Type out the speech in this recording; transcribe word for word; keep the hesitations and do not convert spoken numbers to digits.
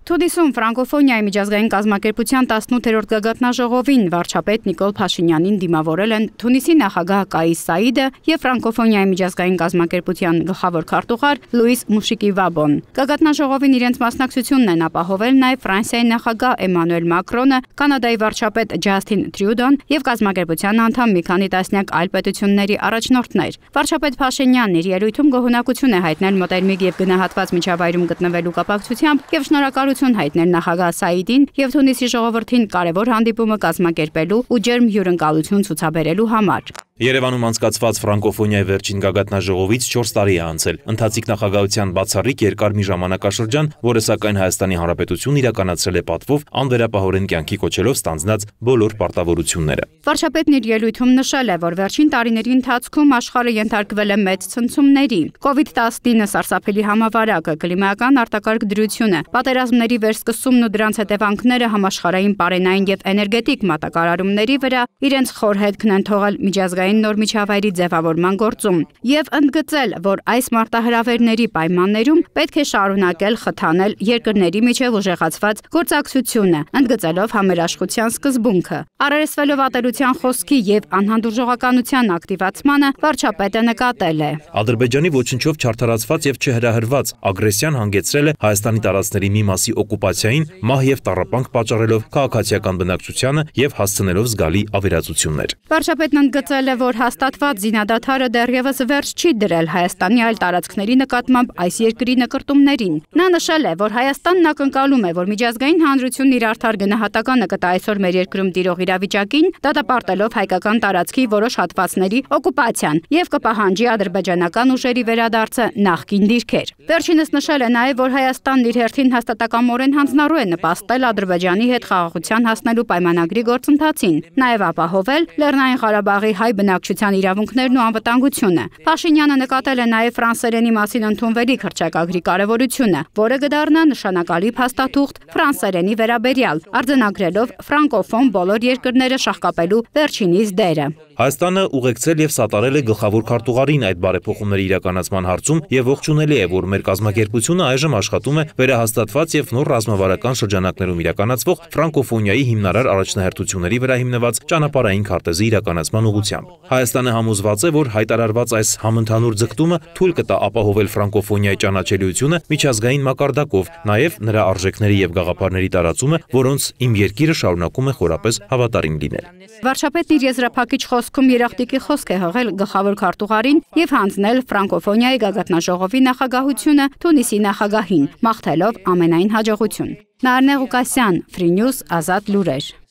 Թունիսում ֆրանկոֆոնիայի միջազգային կազմակերպության տասնութերորդ գագաթնաժողովին վարչապետ Նիկոլ Փաշինյանին դիմավորել են Թունիսի նախագահ Կայիս Սաիդը և ֆրանկոֆոնիայի միջազգային կազմակերպության գլխավոր քարտուղար Լուիս Մուշիկի Վաբոն։ Գագաթնաժողովին իրենց մասնակցությունն են ապահովել նաև Ֆրանսիայի նախագահ Էմանուել Մակրոնը, Կանադայի վարչապետ Ջասթին Տրյուդոն և կազմակերպության անդամ մի քանի տասնյակ այլ պետությունների առաջնորդներ։ Վարչապետ Փաշինյանն իր ելույթում գոհունակություն է հայտնել մոտերմիկ և գնահատված միջավայրում գտնվելու կապակցությամբ և շնորհակալություն հայտնել նախագահ Սաիդին և Թունիսի ժողովրդին կարևոր հանդիպումը կազմակերպելու ու ջերմ հյուրընկալություն ցուցաբերելու համար։ Երևանում անցկացված ֆրանկոֆոնիայի վերջին գագաթնաժողովից չորս տարի է անցել։ Ընթացիկ նախագահության բացառիկ երկար մի ժամանակաշրջան, որը սակայն Հայաստանի Հանրապետությունն իրականացրել է պատվով, անվերապահորեն կյանքի կոչելով ստանձնած բոլոր պարտավորությունները։ Վարչապետն իր ելույթում նշել է, որ վերջին տարիների ընթացքում աշխարհը ենթարկվել է մեծ ցնցումների։ կովիդ տասնինը սարսափելի համավարակը, կլիմայական արտակարգ դրությունը, պատերազմների վերսկսումն ու դրանց հետևանքները համաշխարհային պարենային և էներգետիկ մատակարարումների վրա իրենց խոր հետքն են թողել միջազգային նոր միջավայրի ձևավորման գործում և ընդգծել, որ այս մարտահրավերների պայմաններում պետք է շարունակել խթանել երկրների միջև ուժեղացված գործակցությունը, ընդգծելով համերաշխության սկզբունքը։ Առերեսվելով ատելության խոսքի և անհանդուրժողականության ակտիվացմանը, վարչապետը նկատել է. Ադրբեջանի ոչնչով չարդարացված և չհրահրված ագրեսիան հանգեցրել է Հայաստանի տարածքների մի մասի օկուպացիային, մահ և տառապանք պատճառելով քաղաքացիական բնակչությանը և հասցնելով զգալի ավերածություններ։ Վարչապետն ընդգծել է, որ հաստատված զինադադարը դեռևս վերջ չի դրել Հայաստանի այլ տարածքների նկատմամբ այս երկրի նկրտումներին։ Նա նշել է, որ Հայաստանն ակնկալում է, որ միջազգային հանրությունն իր արդար գնահատականը կտա այսօր մեր երկրում տիրող իրավիճակին, դատապարտելով հայկական տարածքի որոշ հատվածների օկուպացիան և կպահանջի ադրբեջանական ուժերի վերադարձը նախկին դիրքեր։ Վերջինս նշել է նաև, որ Հայաստանն իր հերթին հաստատակամորեն հանձնառու է նպաստել Ադրբեջանի հետ խաղաղության հասնելու պայմանագրի գործընթացին, նաև ապահովել Լեռնային Ղարաբաղի հայ բնակչության իրավունքներն ու անվտանգությունը։ Փաշինյանը նկատել է նաև ֆրանսերենի մասին ընդունվելիք հռչակագրի կարևորությունը, որը կդառնա նշանակալի փաստաթուղթ ֆրանսերենի վերաբերյալ, արձանագրելով ֆրանկոֆոն բոլոր երկրները շահկապելու վերջինիս դերը։ Հայաստանը ուղեկցել և սատարել է գլխավոր քարտուղարին այդ բարեփոխումների իրականացման հարցում և ողջունելի է, որ մեր կազմակերպությունը այժմ աշխատում է վերահաստատված և նոր ռազմավարական շրջանակներում իրականացվող ֆրանկոֆոնիայի հիմնարար առաջնահերթությունների վրա հիմնված ճանապարհային քարտեզի իրականացման ուղղությամբ։ Հայաստանը համոզված է, որ հայտարարված այս համընդհանուր ձգտումը թույլ կտա ապահովել ֆրանկոֆոնիայի ճանաչելիությունը միջազգային մակարդակով, նաև նրա արժեքների և գաղափարների տարածումը, որոնց իմ երկիրը շարունակում է խորապես հավատարիմ լինել։ Վարչապետն իր եզրափակիչ խոսքում երախտիկի խոսք է հղել գլխավոր քարտուղարին և հանձնել ֆրանկոֆոնիայի գագաթնաժողովի նախագահությունը Թունիսի նախագահին, մաղթելով ամենայն հաջողություն։ Նարնե Ղուկասյան, Free News, Ազատ լուրեր։